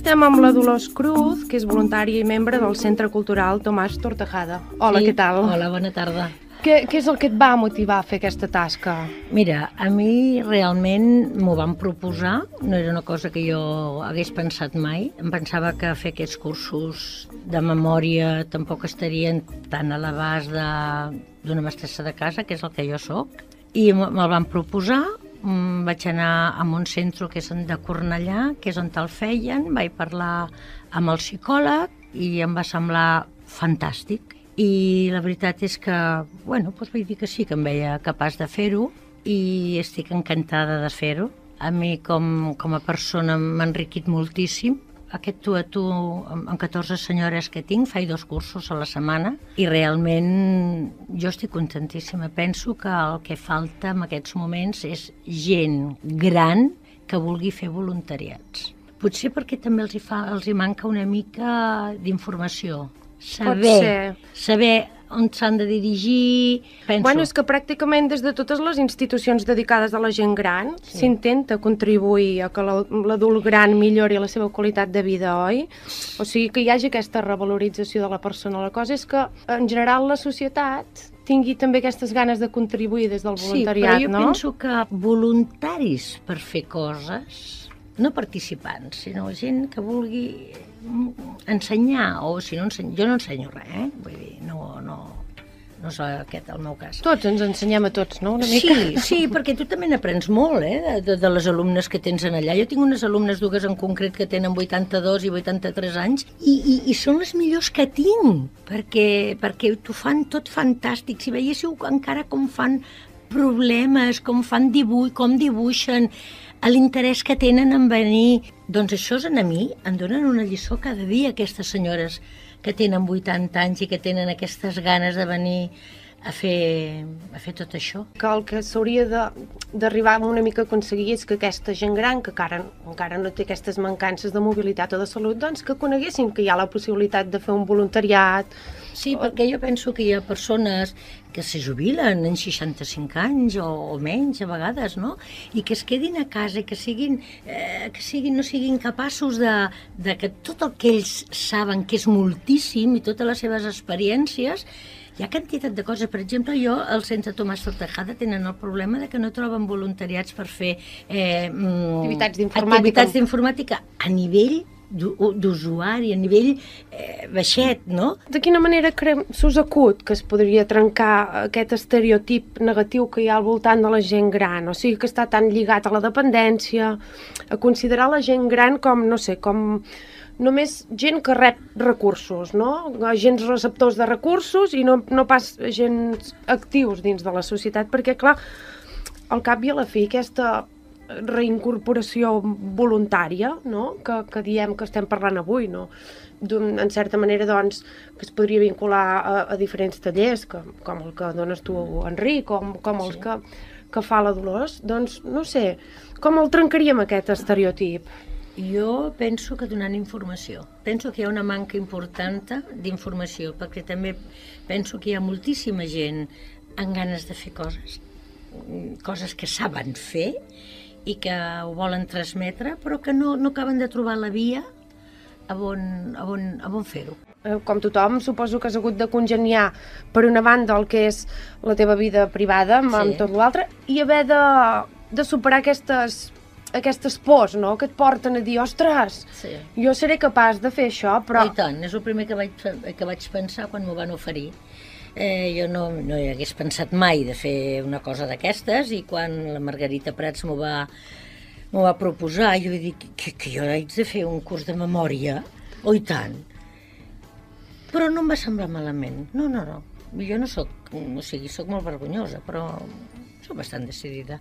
estem amb la Dolors Cruz, que és voluntària i membre del Centre Cultural Tomàs Tortajada. Hola, què tal? Hola, bona tarda. Què és el que et va motivar a fer aquesta tasca? Mira, a mi realment m'ho van proposar, no era una cosa que jo hagués pensat mai. Em pensava que fer aquests cursos de memòria tampoc estarien tan a l'abast d'una mestressa de casa, que és el que jo sóc. I me'l van proposar, vaig anar a un centre que és de Cornellà, que és on te'l feien, vaig parlar amb el psicòleg i em va semblar fantàstic. I la veritat és que, vaig dir que sí, que em veia capaç de fer-ho i estic encantada de fer-ho. A mi com a persona m'ha enriquit moltíssim. Aquest tu a tu, amb 14 senyores que tinc, faig 2 cursos a la setmana i realment jo estic contentíssima. Penso que el que falta en aquests moments és gent gran que vulgui fer voluntariats. Potser perquè també els hi manca una mica d'informació. Saber on s'han de dirigir, penso. És que pràcticament des de totes les institucions dedicades a la gent gran s'intenta contribuir a que l'adult gran millori la seva qualitat de vida, oi? O sigui, que hi hagi aquesta revalorització de la persona. La cosa és que, en general, la societat tingui també aquestes ganes de contribuir des del voluntariat, no? Sí, però jo penso que voluntaris per fer coses, no participants, sinó gent que vulgui ensenyar, o si no jo no ensenyo res, vull dir, no és aquest el meu cas. Tots ens ensenyem a tots, no? Una mica. Sí, perquè tu també n'aprens molt, de les alumnes que tens allà. Jo tinc unes alumnes, 2 en concret, que tenen 82 i 83 anys, i són les millors que tinc, perquè t'ho fan tot fantàstic. Si veiéssiu encara com fan problemes, com fan dibuix, com dibuixen, l'interès que tenen en venir, doncs això a mi em donen una lliçó cada dia, aquestes senyores que tenen 80 anys i que tenen aquestes ganes de venir a fer tot això. Que el que s'hauria d'arribar una mica a aconseguir és que aquesta gent gran, que encara no té aquestes mancances de mobilitat o de salut, doncs que coneguessin que hi ha la possibilitat de fer un voluntariat. Sí, perquè jo penso que hi ha persones que se jubilen en 65 anys o menys a vegades, no? I que es quedin a casa i que no siguin capaços de que tot el que ells saben, que és moltíssim, i totes les seves experiències, hi ha quantitat de coses. Per exemple, al Centre Tomàs Tortajada tenen el problema de que no troben voluntariats per fer activitats d'informàtica a nivell d'usuari, a nivell baixet, no? De quina manera s'us acut que es podria trencar aquest estereotip negatiu que hi ha al voltant de la gent gran? O sigui, que està tan lligat a la dependència, a considerar la gent gran com, no sé, com només gent que rep recursos, no? Agents receptors de recursos i no pas agents actius dins de la societat, perquè, clar, al cap i a la fi, aquesta reincorporació voluntària, no? Que diem que estem parlant avui, no? En certa manera, doncs, que es podria vincular a diferents tallers, com el que dones tu, Enric, com els que fa la Dolors, doncs, no sé, com el trencaríem aquest estereotip? Jo penso que donant informació. Penso que hi ha una manca important d'informació, perquè també penso que hi ha moltíssima gent amb ganes de fer coses que saben fer i que ho volen transmetre, però que no acaben de trobar la via a on fer-ho. Com tothom, suposo que has hagut de congeniar, per una banda, el que és la teva vida privada amb tot l'altre, i haver de superar aquestes pors, no?, que et porten a dir, ostres, jo seré capaç de fer això, però... I tant, és el primer que vaig pensar quan m'ho van oferir. Jo no hi hagués pensat mai de fer una cosa d'aquestes, i quan la Margarita Prats m'ho va proposar, jo vaig dir que jo haig de fer un curs de memòria, i tant. Però no em va semblar malament, no. Jo no soc, soc molt vergonyosa, però soc bastant decidida.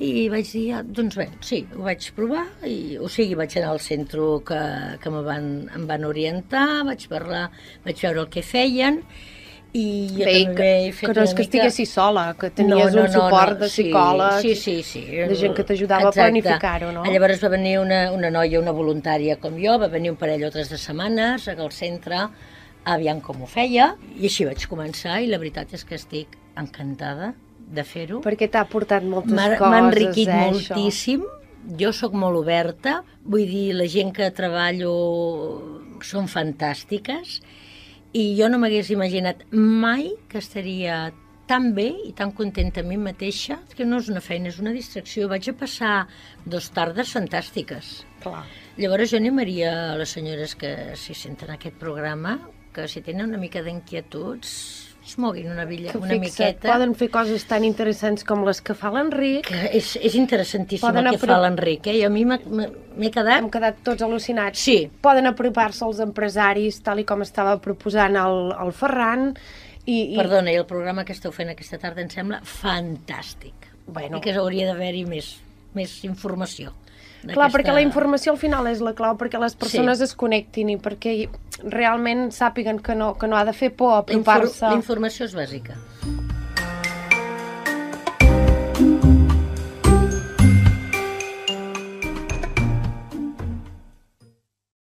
I vaig dir, doncs bé, sí, ho vaig provar, vaig anar al centre que em van orientar, vaig parlar, vaig veure el que feien, i jo també he fet que no és que estiguessis sola, que tenies un suport de psicòleg, de gent que t'ajudava a planificar-ho, no? Llavors va venir una noia, una voluntària com jo, va venir un parell o 3 de setmanes al centre, aviam com ho feia, i així vaig començar, i la veritat és que estic encantada de fer-ho. Perquè t'ha portat moltes coses, m'ha enriquit moltíssim, jo sóc molt oberta, vull dir, la gent que treballo són fantàstiques i jo no m'hagués imaginat mai que estaria tan bé i tan contenta a mi mateixa, que no és una feina, és una distracció. Vaig a passar 2 tardes fantàstiques. Clar. Llavors jo animaria a les senyores que s'hi senten en aquest programa, que si tenen una mica d'inquietuds, es moguin una miqueta. Poden fer coses tan interessants com les que fa l'Enric. Que és interessantíssim el que fa l'Enric, eh? I a mi m'he quedat... Hem quedat tots al·lucinats. Sí. Poden apropar-se als empresaris, tal i com estava proposant el Ferran. Perdona, i el programa que esteu fent aquesta tarda em sembla fantàstic. Bueno. I que hauria d'haver-hi més informació. Clar, perquè la informació al final és la clau, perquè les persones es connectin i perquè realment sàpiguen que no ha de fer por apropar-se. La informació és bàsica.